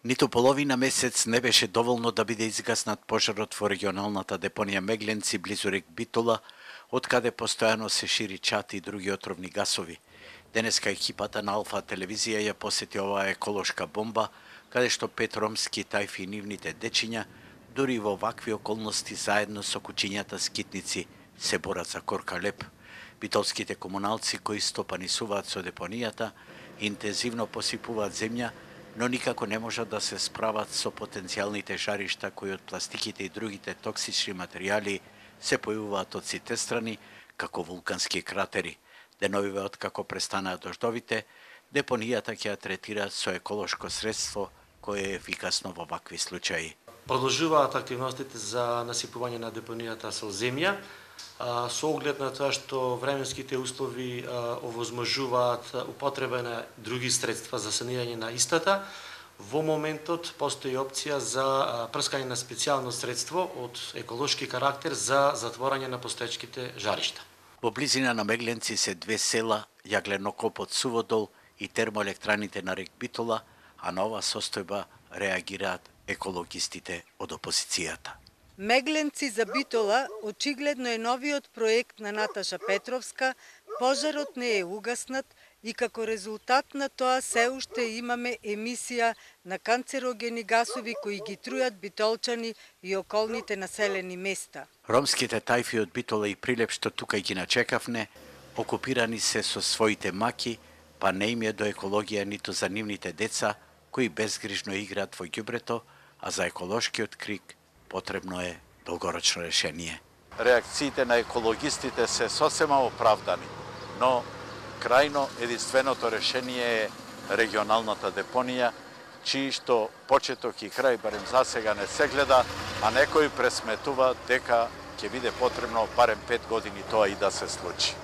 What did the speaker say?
Ниту половина месец не беше доволно да биде изгаснат пожарот во регионалната депонија Мегленци близу рек Битола, откаде постојано се шири чад и други отровни гасови. Денеска екипата на Алфа телевизија ја посети оваа еколошка бомба, каде што 5 ромски тајфи и нивните дечиња, дури во вакви околности заедно со кучињата скитници, се борат за корка леп. Битолските комуналци кои стопанисуваат со депонијата, интензивно посипуваат земја, но никако не можат да се справат со потенцијалните жаришта кои од пластиките и другите токсични материјали се појавуваат од сите страни, како вулкански кратери. Деновиве откако престанаат дождовите, депонијата ќе ја третира со еколошко средство кое е ефикасно во вакви случаи. Продолжуваат активностите за насипување на депонијата со земја, со оглед на тоа што временските услови овозможуваат употреба на други средства за санирање на истата. Во моментот постои опција за прскање на специјално средство од еколошки карактер за затворање на постоечките жаришта. Во близина на Мегленци се две села, јагленокопот Суводол и термоелектраните на рек Битола, а на оваа состојба реагираат екологистите од опозицијата. Мегленци за Битола очигледно е новиот проект на Наташа Петровска, пожарот не е угаснат и како резултат на тоа се уште имаме емисија на канцерогени гасови кои ги трујат битолчани и околните населени места. Ромските тајфи од Битола и Прилеп што тука ги начекавне, окупирани се со своите маки, па не им е до екологија ниту за нивните деца, кои безгрижно играат во ѓубрето, а за еколошкиот крик потребно е долгорочно решение. Реакциите на екологистите се сосема оправдани, но крајно единственото решение е регионалната депонија, чии што почеток и крај барем засега не се гледа, а некој пресметува дека ќе биде потребно барем 5 години тоа и да се случи.